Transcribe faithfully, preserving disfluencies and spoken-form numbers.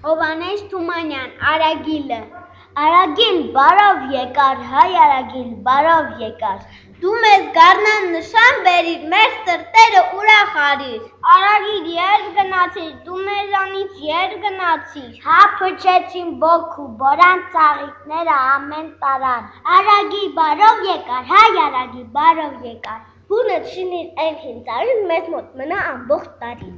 Հովհաննես Թումանյան, Արագիլը։ Արագիլ բարով եկար, հայ Արագիլ բարով եկար։ Դու մեզ գառնան նշան բերիր, մեր սրտերը ուրախ արիր։ Արագիլ եր գնացիր, դու մեզանից եր գնացիր։ Հա փչեցին բոքու, բորան ծաղիկները ամեն տարան։ Արագիլ բարով եկար, հայ Արագիլ բարով եկար։ Հունդ շինիր այն հինծարին, մեզ մոտ մնա ամբողջ տարին։